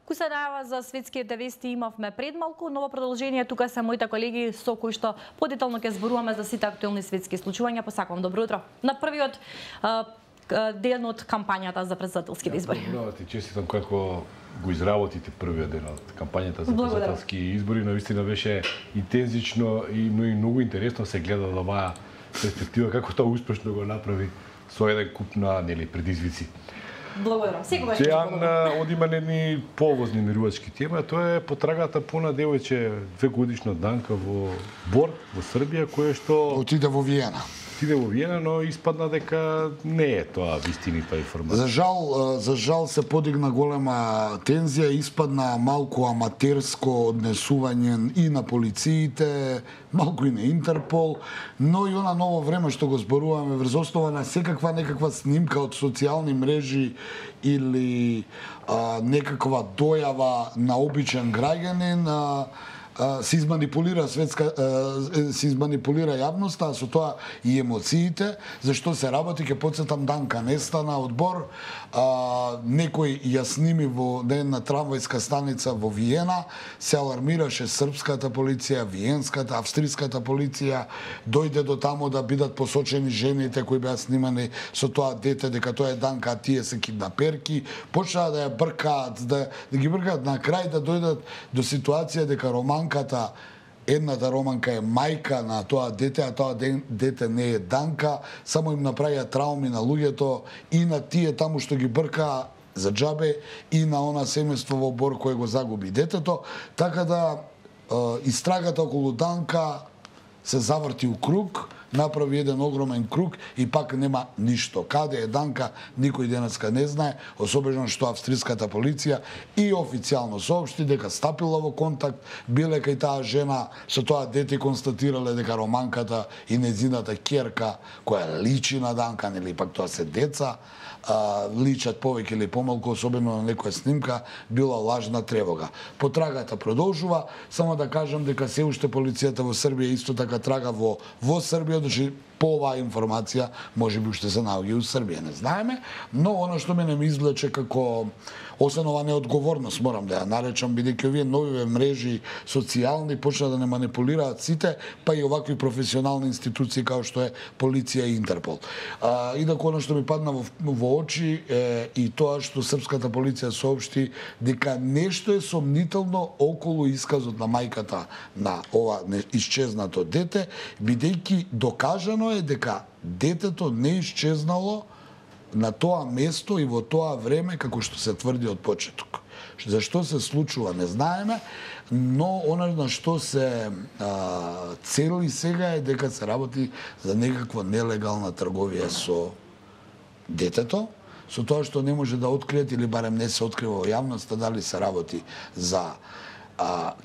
Кој се најава за светските вести имавме пред малку, но во продолжение тука се моите колеги со кои што подетално ќе зборуваме за сите актуелни светски случувања. Посакувам добро утро на првиот ден од кампањата за претседателските избори. Добро ти честитам како го изработите првиот ден од кампањата за претседателски избори. Навистина беше интензично и многу интересно се гледа од оваа перспектива како тоа успешно го направи со еден куп на предизвици. Благодарам. Секогаш. Дејан одима едни повозни мирувачки тема, тоа е потрагата пона девојче 2-годишна Данка во Бор, во Србија, кое што отиде во Виена. Но испадна дека не е тоа вистинита информација. За жал се подигна голема тензија, испадна малку аматерско однесување и на полициите, малку и на Интерпол, но и она ново време што го зборуваме врз основа на секаква некаква снимка од социјални мрежи или некаква дојава на обичен граѓанин, се изманипулира јавноста, а со тоа и емоциите. Зашто се работи, ќе потсетам, Данка нестана од Бор, некој ја сними во една трамвајска станица во Виена, се алармираше српската полиција, виенската, австриската полиција, дојде до тамо да бидат посочени жените кои беа снимани со тоа дете, дека тоа е Данка, а тие се киднаперки, почнаа да ја бркаат, да ги бркаат, на крај да дојдат до ситуација дека едната романка е мајка на тоа дете, а тоа дете не е Данка, само им направија трауми на луѓето и на тие таму што ги бркаа за џабе и на она семејство во Бор кое го загуби детето, така да истрагата околу Данка се заврти у круг, направи еден огромен круг и пак нема ништо. Каде е Данка, никој денеска не знае, особено што австриската полиција и официјално соопшти дека стапила во контакт, биле кај таа жена, со тоа дете констатирале дека романката и нејзината ќерка, која личи на Данка, нели пак тоа се деца, личат повеќе или помалку, особено на некоја снимка, била лажна тревога. Потрагата продолжува, само да кажам дека се уште полицијата во Србија исто така трага во Србија, значи по оваа информација можеби уште се наоѓа у Србија, не знаеме, но она што мене ми извлече како освен ова неодговорност, морам да ја наречам, бидејќи овие нови мрежи социјални почна да не манипулираат сите, па и овакви професионални институции како што е полиција и Интерпол. Инаку она што ми падна во очи е и тоа што српската полиција соопшти дека нешто е сомнително околу исказот на мајката на ова исчезнато дете, бидејќи докажано е дека детето не исчезнало на тоа место и во тоа време како што се тврди од почеток. Зашто се случува не знаеме, но она на што се цели сега е дека се работи за некаква нелегална трговија со детето, со тоа што не може да откриет или барем не се открива во јавноста дали се работи за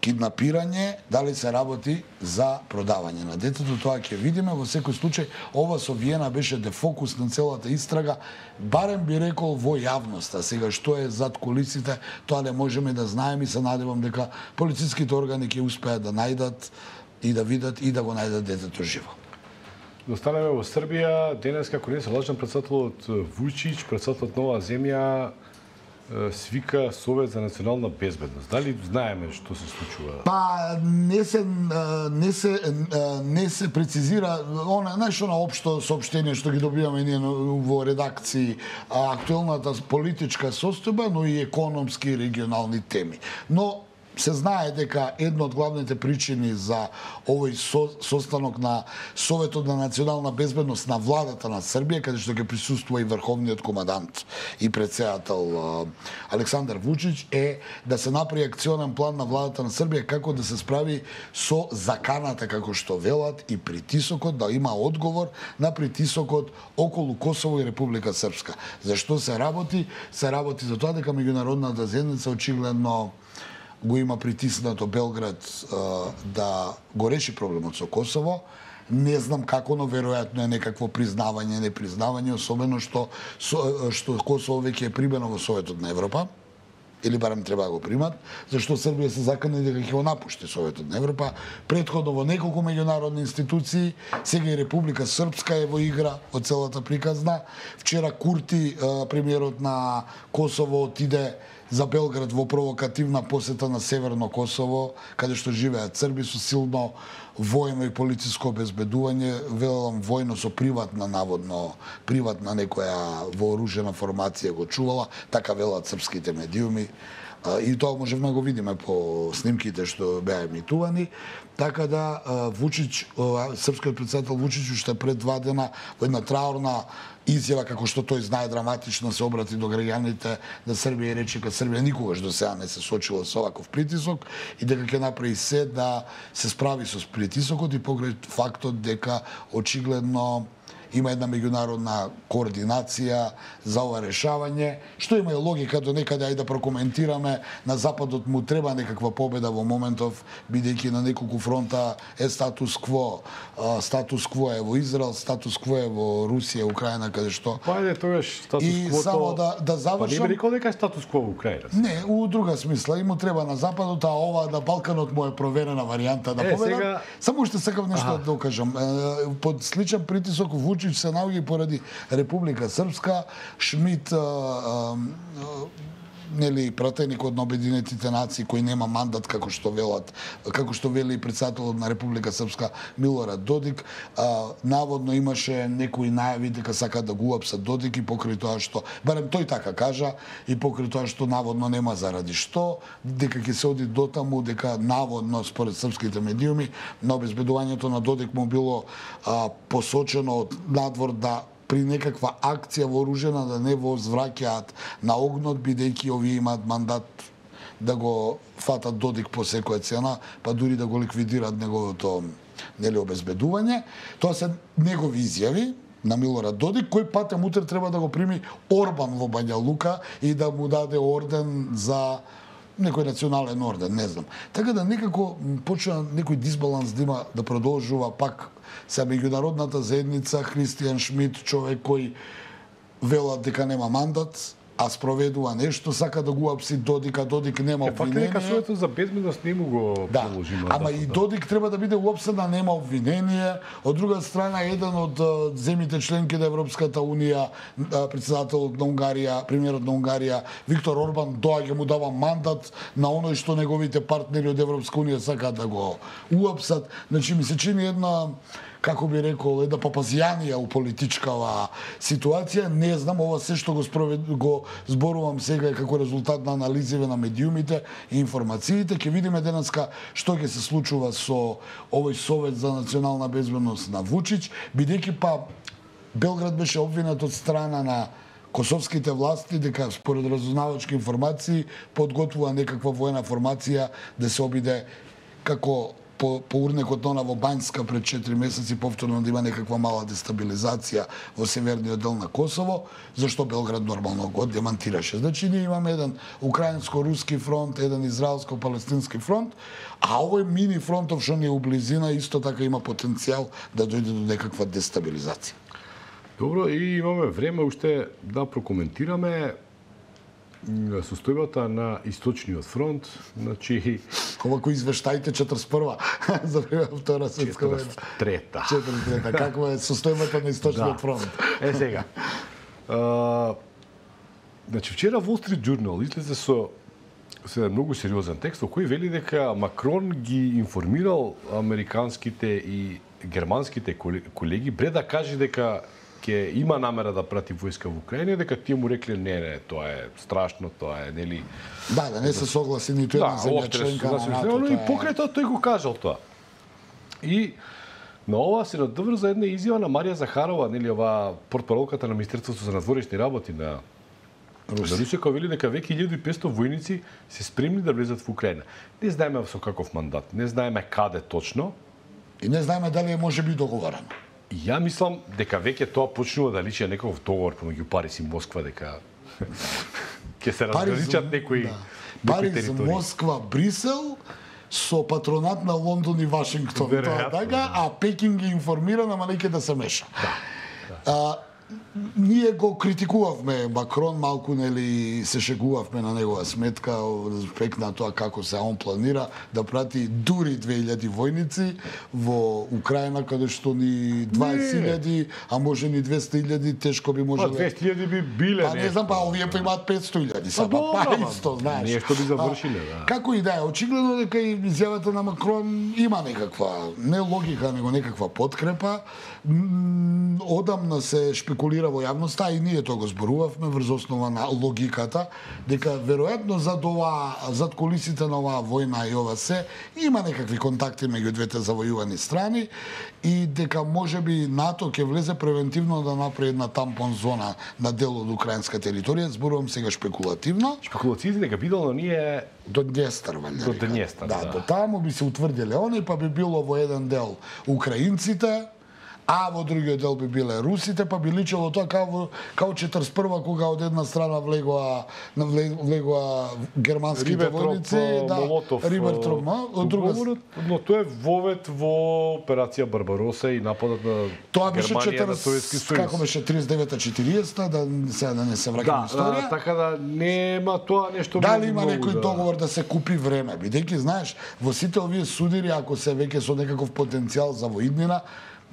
киднапирање, дали се работи за продавање на детето, тоа ќе видиме. Во секој случај, ова со Виена беше дефокус на целата истрага, барем би рекол во јавноста. Сега што е зад кулисите, тоа не можеме да знаеме и се надевам дека полициските органи ќе успеат да најдат и да видат и да го најдат детето живо. Достанеме во Србија, денес како не се лажен председателот Вучич, председателот Нова земја, свика Совет за национална безбедност. Дали знаеме што се случува? Па не се прецизира знаеш она општо соопштение што ги добиваме ние во редакции, актуелната политичка состојба, но и економски и регионални теми. Но се знае дека една од главните причини за овој состанок на Советот на национална безбедност на владата на Србија, каде што ќе присуствува и врховниот командант и претседател Александар Вучич, е да се направи акционен план на владата на Србија како да се справи со заканата, како што велат, и притисокот, да има одговор на притисокот околу Косово и Република Српска. Зашто се работи? Се работи за тоа дека меѓународната заедница очигледно го има притиснато Белград да го реши проблемот со Косово. Не знам како, но веројатно е некакво признавање, непризнавање, особено што Косово веќе е примено во Советот на Европа, или барем треба да го примат, зашто Србија се закани дека ќе го напушти Советот на Европа. Предходно во неколку меѓународни институции, сега и Република Српска е во игра од целата приказна. Вчера Курти, премиерот на Косово, отиде за Белград во провокативна посета на Северно Косово, каде што живеат срби со силно војно и полициско обезбедување, велам војно со приватна, наводно приватна некоја вооружена формација го чувала, така велат српските медиуми. И тоа можевме да го видиме по снимките што беа емитувани. Така да Вучич, српскиот претседател Вучич уште пред 2 дена во една траурна изјава, како што тој знае драматично, се обрати до граѓаните да Србија и рече дека Србија никогаш до сега не се сочила со оваков притисок и дека ќе направи се да се справи со притисокот и покрај фактот дека очигледно има една меѓународна координација за ова решавање, што има и логика до некаде, ајде да прокоментираме, на Западот му треба некаква победа во моментов, бидејќи на неколку фронта е статус кво. Статус кво е во Израел, статус кво е во Русија, Украина, каде што... Па ајде тогаш статус кво... И само да завршам... Па не би рекол дека е статус кво во Украина? Не, у друга смисла. И му треба на Западот, а ова на Балканот му е проверена варијанта да победа. Сега... Само уште сакам нешто да докажам. Под сличен притисок Вучич се наоѓа поради Република Српска, Шмид нели пратеникот на Обединетите нации кој нема мандат како што вели претседателот на Република Српска Милорад Додик, наводно имаше некои најави дека сака да го уапсат Додик и покрај тоа што барем тој така кажа и покрај тоа што наводно нема заради што, дека ќе се оди дотаму, дека наводно според српските медиуми на обезбедувањето на Додик му било посочено од надвор да при некаква акција вооружена да не возвраќаат на огнот, бидејќи овие имаат мандат да го фатат Додик по секоја цена, па дури да го ликвидираат неговото обезбедување. Тоа се негови изјави на Милорад Додик, кој патем утре треба да го прими Орбан во Бања Лука и да му даде орден за некој национален орден, не знам. Така да некако почна некој дисбаланс да има, да продолжува пак се меѓународната заедница, Христијан Шмид, човек кој велат дека нема мандат, а спроведува нешто, сака да го апси Додик, а Додик нема обвинение. Фактот дека советот за безбедност не му го приложи мандатот. Ама и Додик треба да биде уапсен, да нема обвинение. Од друга страна, еден од земјите членки на Европската унија, претседателот на Унгарија, премиерот на Унгарија, Виктор Орбан, доаѓа му дава мандат на оној што неговите партнери од Европска унија сакаат да го уапсат. Значи ми се чини една, како би рекол, една папазијанија у политичкава ситуација. Не знам, ова се што го зборувам сега како резултат на анализиве на медиумите и информациите. Ќе видиме денеска што ќе се случува со овој Совет за национална безбедност на Вучич, бидејќи па Белград беше обвинет од страна на косовските власти дека според разузнавачки информации подготвува некаква воена формација да се обиде како по урнекот на во Бањска пред 4 месеци повторно да има некаква мала дестабилизација во северниот дел на Косово, зашто Белград нормално го демантираше. Значи ние имаме еден украинско-руски фронт, еден израелско-палестински фронт, а овој мини фронтов што ни е у близина исто така има потенцијал да дојде до некаква дестабилизација. Добро, и имаме време уште да прокоментираме состојбата на Источниот фронт, значи Овако извештајте 41-а за време Втора светска војна. 43-та. 43-та. Каква е состојбата на Источниот фронт? Сега. Значи вчера Wall Street Journal излезе со многу сериозен текст во кој вели дека Макрон ги информирал американските и германските колеги пред да каже дека ќе има намера да прати војска во Украина, дека тие му рекле не, тоа е страшно, тоа е нели. Да, не се согласи ниту една земја членка на НАТО. И покрај тоа тој го кажал тоа. И на ова се надврза една изјава на Марија Захарова, нели ова портпаролката на Министерството за надворешни работи на Русија, која вели дека веќе 1500 војници се спремни да влезат во Украина. Не знаеме со каков мандат, не знаеме каде точно. И не знаеме дали е можеби договорено. Ја мислам дека веќе тоа почнува да личи на некој договор помеѓу Париз и Москва, дека ќе се разграничат некои Париз, Москва, Брисел со патронат на Лондон и Вашингтон. Тоа така, а Пекин ги информира, ама неќе да се меша. ние го критикувавме Макрон малку, нели се шегувавме на негова сметка респект на тоа како се он планира да прати дури 2000 војници во Украина, каде што ни 20.000, а може ни 200.000 тешко би можеле. 200.000 би биле. Па не знам, па овие па имаат 500.000, па исто, знаеш. Нешто би завршиле, да. Како и да е, очигледно дека и изјавата на Макрон има некаква не логика, него некаква подкрепа. Одамна се шпекулира во јавноста, и ние тоа го зборувавме врз основа на логиката, дека веројатно зад кулисите на оваа војна и ова се, има некакви контакти меѓу двете завојувани страни и дека можеби НАТО ќе влезе превентивно да направи една тампон зона на дел од украинска територија, зборувам сега шпекулативно. Шпекулациите дека бидело ние до Днестар, валјда. До Днестар, да. До таму би се утврдиле они, па би било во еден дел украинците, а во другиот дел би биле русите, па би личело тоа као 41-ва, кога од една страна влегоа германските војници, Рибентроп, од друга страна. Но тоа е вовет во операција Барбароса и нападот на Германија на Советски сојуз. Како беше 39-40, да не се враќаме историја. Така да нема тоа нешто. Дали има некој договор да се купи време, бидејќи знаеш, во сите овие судири, ако се веќе со некаков потенцијал за воиднина,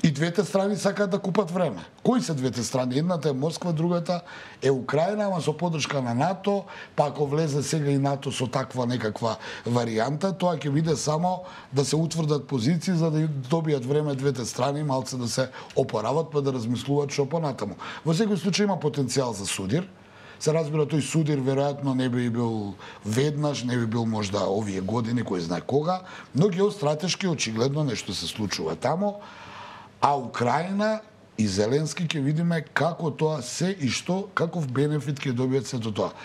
и двете страни сакаат да купат време. Кои се двете страни? Едната е Москва, другата е Украина, ама со поддршка на НАТО, па ако влезе сега и НАТО со таква некаква варијанта, тоа ќе биде само да се утврдат позиции за да добијат време двете страни, малце да се опорават, па да размислуваат што понатаму. Во секој случај има потенцијал за судир. Се разбира, тој судир веројатно не би бил веднаш, не би бил можда овие години, кој знае кога, но геостратешки очигледно нешто се случува таму. А Украина и Зеленски ќе видиме како тоа се и што, каков бенефит ќе добијат сето тоа.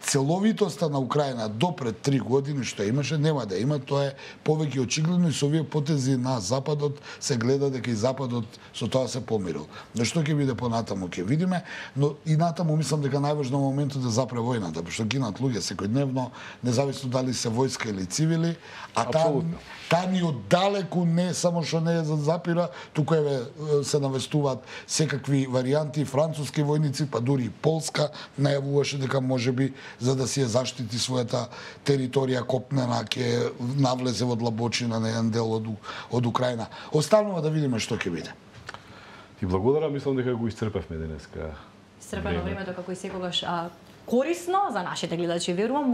Целовитоста на Украина до пред 3 години што имаше, нема да има, тоа е повеќе очигледно и со овие потези на Западот се гледа дека и Западот со тоа се помирил. Но што ќе биде понатаму ќе видиме, но и натаму мислам дека најважно моментот да запре војната, што гинат луѓе секојдневно, независно дали се војска или цивили, а таа ни оддалеку не само што не е за запира, туку се навестуваат секакви варијанти, француски војници, па дури и Полска најавуваше дека можеби за да си ја заштити својата територија копнена, ќе навлезе во длабочина на еден дел од Украина. Останува да видиме што ќе биде. Ти благодарам, мислам дека го исцрпевме денеска. Исцрпено времето како и секогаш корисно за нашите гледачи, верувам.